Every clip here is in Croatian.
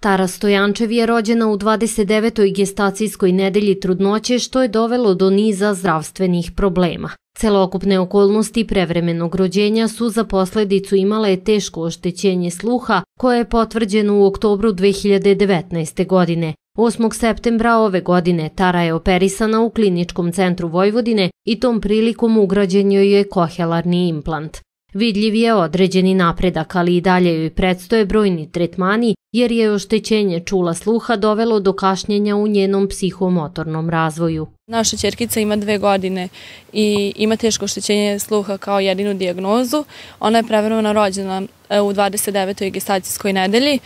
Tara Stojančev je rođena u 29. gestacijskoj nedelji trudnoće, što je dovelo do niza zdravstvenih problema. Celokupne okolnosti prevremenog rođenja su za posledicu imale teško oštećenje sluha, koje je potvrđeno u oktobru 2019. godine. 8. septembra ove godine Tara je operisana u Kliničkom centru Vojvodine i tom prilikom ugrađen joj je kohelarni implant. Vidljiv je određeni napredak, ali i dalje joj predstoje brojni tretmani jer je oštećenje čula sluha dovelo do kašnjenja u njenom psihomotornom razvoju. Naša ćerkica ima 2 godine i ima teško oštećenje sluha kao jedinu dijagnozu. Ona je prevremeno rođena u 29. gestacijskoj nedelji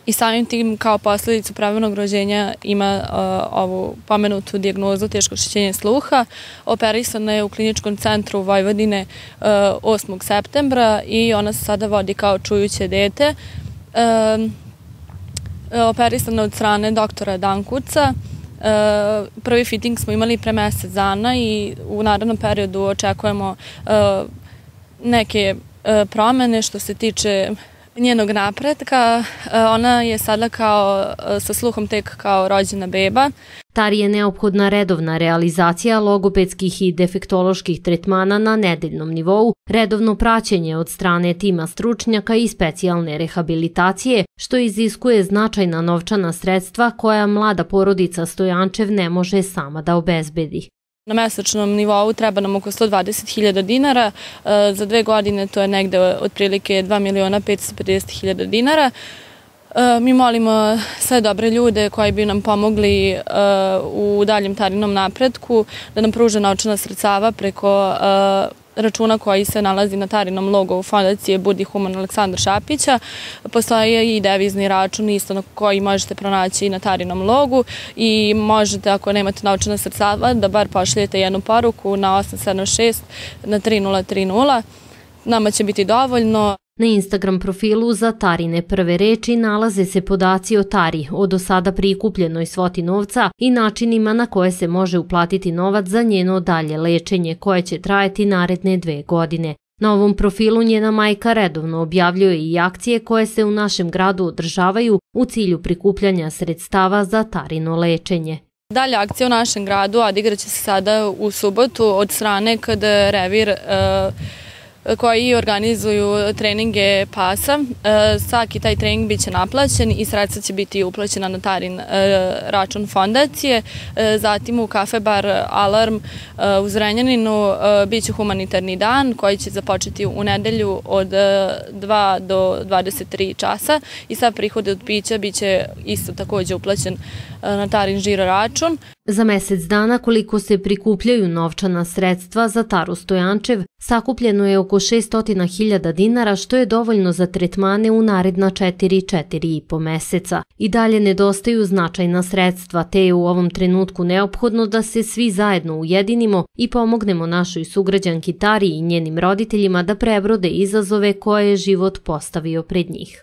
i samim tim kao posljedicu prevremenog rođenja ima ovu pomenutu dijagnozu teško oštećenje sluha. Operisana je u Kliničkom centru Vojvodine 8. septembra i ona se sada vodi kao čujuće dete. Operisana od strane doktora Dankuca. Prvi fitting smo imali pre mesec dana i u narednom periodu očekujemo neke promene što se tiče njenog napretka. Ona je sada sa sluhom tek kao rođena beba. Tari je neophodna redovna realizacija logopedskih i defektoloških tretmana na nedeljnom nivou, redovno praćenje od strane tima stručnjaka i specijalne rehabilitacije, što iziskuje značajna novčana sredstva koja mlada porodica Stojančev ne može sama da obezbedi. Na mesečnom nivou treba nam oko 120.000 dinara, za 2 godine to je negde otprilike 2.550.000 dinara. Mi molimo sve dobre ljude koji bi nam pomogli u daljem Tarinom napretku, da nam pruže novčana sredstava preko računa koji se nalazi na Tarinom logo fondacije Budi human Aleksandra Šapića. Postoji i devizni račun isto na koji možete pronaći na Tarinom logu i možete, ako nemate novčana sredstava, da bar pošaljete jednu poruku na 876 na 3030. Nama će biti dovoljno. Na Instagram profilu za Tarine prve reči nalaze se podaci o Tari, o do sada prikupljenoj svoti novca i načinima na koje se može uplatiti novac za njeno dalje lečenje koje će trajati naredne 2 godine. Na ovom profilu njena majka redovno objavljuje i akcije koje se u našem gradu održavaju u cilju prikupljanja sredstava za Tarino lečenje. Dalje akcija u našem gradu odigraće se sada u subotu od strane KD Revir koji organizuju treninge pasa. Svaki taj trening biće naplaćen i sredstva će biti uplaćena na Tarin račun fondacije. Zatim u kafe bar Alarm u Zrenjaninu biće humanitarni dan koji će započeti u nedelju od 2 do 23 časa i sav prihod od pića biće isto takođe uplaćen na Tarin žiro račun. Za mesec dana koliko se prikupljaju novčana sredstva za Taru Stojančev, sakupljeno je oko 600.000 dinara, što je dovoljno za tretmane u naredna 4,5 meseca. I dalje nedostaju značajna sredstva, te je u ovom trenutku neophodno da se svi zajedno ujedinimo i pomognemo našoj sugrađanki Tari i njenim roditeljima da prebrode izazove koje je život postavio pred njih.